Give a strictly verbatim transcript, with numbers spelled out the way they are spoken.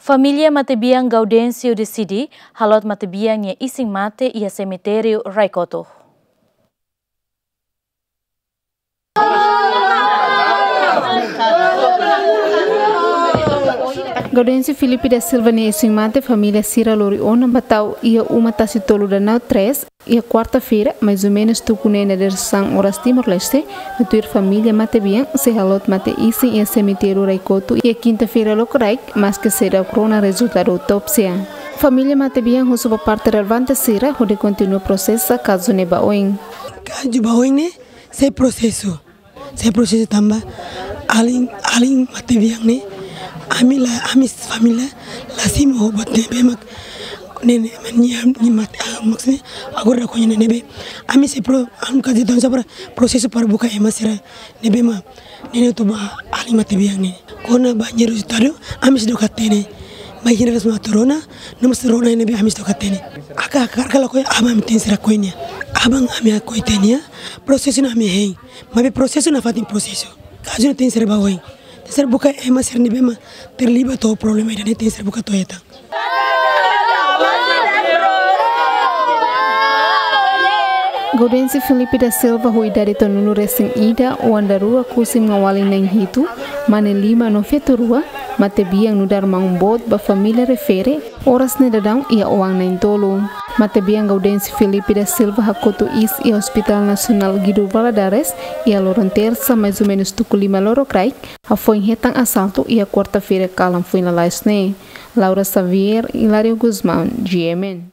Família matebian Gaudêncio deside haloot matebian nia isin-mate iha semitériu Raikoto. Gaudêncio Filipe da Silva nia isin-mate família sira lori ona ba tau iha uma Tasi Tolu Danau três, iha kuarta-feira, mais ou menus tuku neen dadeer-saan oras Timor-Leste, no tuir família matebian sei haloot mate isin iha semitériu Raikoto iha kinta-feira lokraik, maske seidauk rona rezultadu autópsia. Família matebian husu ba parte relevante sira hodi kontinua prosesa kazu ne'e ba oin. Kazu ba oin ne'e sei prosesu. Sei prosesu tanba alin, alin matebian ne'e, ami la, ami família la simu ho buat ne'ebé mak ne'e, ne'e, nia, nia mate, ah, maksudnya, agora da konya ne'ebé. Ami sei pro, anu kaji don sabra prosesu para buka ema sira ne'ebé mak ne'e ne'e atu ba alin matebian ne'e. Kona-ba nia rezultadu, ami seidauk hatene. Mai hina ras ma atu rona, no mós rona ne'ebé ami seidauk hatene. Aka, aka, aka lakohi, aban ami tenke sei lakohi nia. Aban ami lakohi tiha nia, prosesu ne'e ami hein. Maibé prosesu nafatin prosesu. Kazu ne'e tenke sei ba oin. Tenke sei buka ema sira ne'ebé mak terlibat ho problema ida-ne'e tenke sei buka to'o hetan. Gaudêncio Filipe da Silva ho idade tolunulu resin ida, oan daruak husi maun-alin na'in hitu, mane lima no feto rua, matebian nu'udar maun boot ba família refere, oras ne'e daudaun iha oan na'in-tolu. Matebian Gaudêncio Filipe da Silva hakotu iis iha Hospital Nasionál Guido Valadares, iha loron tersa, mais ou menus tuku lima lorokraik, hafoin hetan asaltu iha kuarta-feira kalan foin lalais ne'e. Laura Xavier, Hilario Gusmão, G M N.